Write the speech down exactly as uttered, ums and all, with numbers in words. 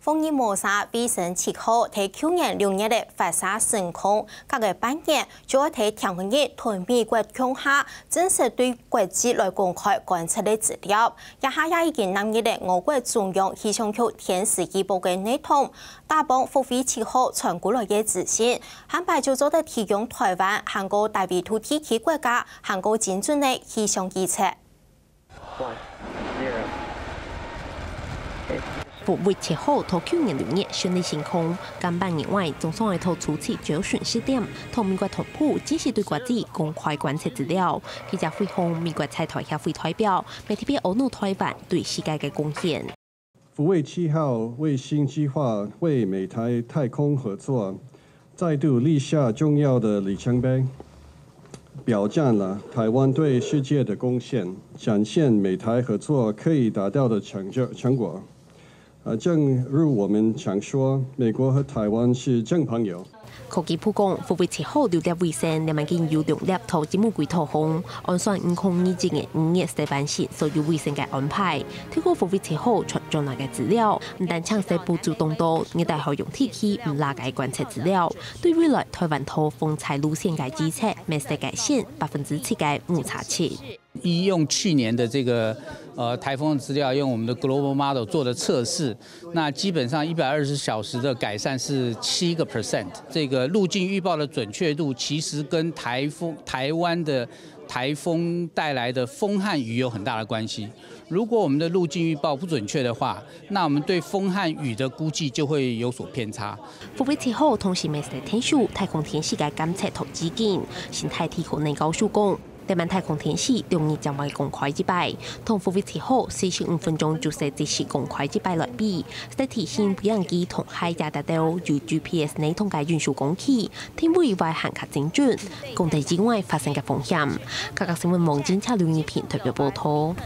貨運模式衛星七號在舊年六月个發射成功，隔个半年就愛在天安日同美國共下正式對國際來公開觀測个資料。這下也已經納入了我國中央氣象局天時預報个系統。打幫福衛七號傳過來个資訊，下擺就做得提供台灣還過大緯度地區國家還過精準个氣象預測。福衛七號在舊年六月順利升空，甲半年外，總算愛在初七朝晨十點，同美國同步正式對國際公開觀測資料。記者會向美國在台協會代表，媒體表揚台灣對世界个貢獻。福衛七號衛星計畫為美台太空合作再度立下重要的里程碑，表彰了台灣對世界的貢献，展現美台合作可以達到的成就成果。呃，正如我们常说，美国和台湾是正朋友。科技部讲，福卫七号六粒卫星，两万斤有两粒在节目轨道上，按算二零二一年五月上半时所有卫星个安排。透过福卫七号传转来个资料，毋但抢先补足当多热带海洋地区毋拉个观测资料，对未来台湾在风灾路线个预测，乜係改善百分之七个误差值。 依用去年的这个呃台风的资料，用我们的 Global Model 做的测试，那基本上一百二十小时的改善是七个 percent。这个路径预报的准确度其实跟台风台湾的台风带来的风和雨有很大的关系。如果我们的路径预报不准确的话，那我们对风和雨的估计就会有所偏差。福卫七号同时乜係天数太空天时个监测同基金，新台体可能告诉讲。 台湾太空天时两日将会公开一摆，同福卫七号四十五分钟就係即時公开一摆来比，在提醒飞行机同海底達到有GPS系统个运输工具，定位会更加精准，降低意外发生个风险。客家新闻网记者刘怡平特别报道。